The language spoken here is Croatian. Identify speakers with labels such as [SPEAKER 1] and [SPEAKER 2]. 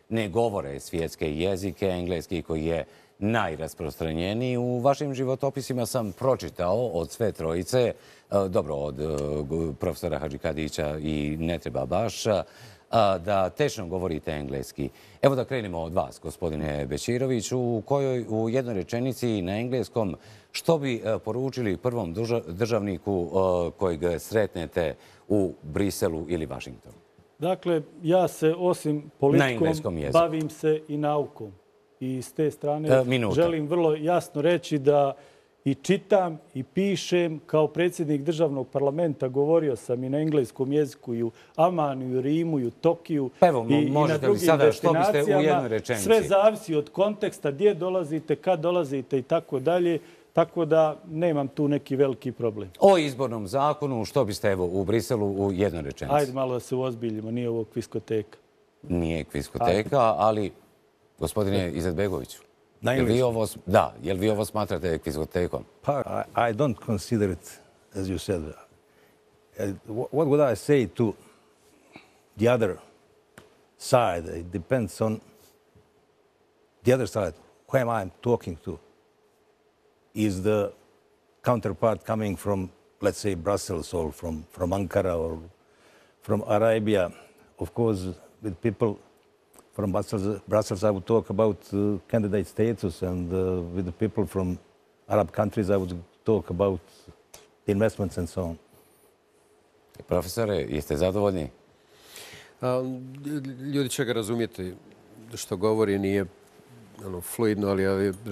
[SPEAKER 1] ne govore svjetske jezike, engleski koji je najrasprostranjeniji. U vašim životopisima sam pročitao od sve trojice, dobro, od profesora Hadžikadića i ne treba baš, da tečno govorite engleski. Evo da krenemo od vas, gospodine Bećirović, u jednoj rečenici na engleskom što bi poručili prvom državniku kojeg sretnete u Briselu ili Vašingtonu?
[SPEAKER 2] Dakle, ja se osim politikom bavim se i naukom. I s te strane želim vrlo jasno reći da i čitam i pišem. Kao predsjednik državnog parlamenta govorio sam i na engleskom jeziku i u Amanu, i u Rimu, i u Tokiju i na drugim destinacijama. Sve zavisi od konteksta, gdje dolazite, kad dolazite i tako dalje. Tako da nemam tu neki veliki problem.
[SPEAKER 1] O izbornom zakonu, što biste evo u Briselu u jednoj rečenici?
[SPEAKER 2] Ajde malo da se uozbiljimo, nije ovo kviskoteka.
[SPEAKER 1] Nije kviskoteka, ali gospodine Izetbegoviću, jel vi ovo smatrate kviskotekom?
[SPEAKER 3] I don't consider it, as you said. What would I say to the other side? It depends on the other side, who am I talking to. Is the counterpart coming from, let's say, Brussels or from Ankara or from Arabia? Of course, with people from Brussels, I would talk about candidate status, and with the people from Arab countries, I would talk about investments and so on.
[SPEAKER 1] Profesore, jeste zadovoljni?
[SPEAKER 4] Ljudi će ga razumjeti što govori, nije fluidno, ali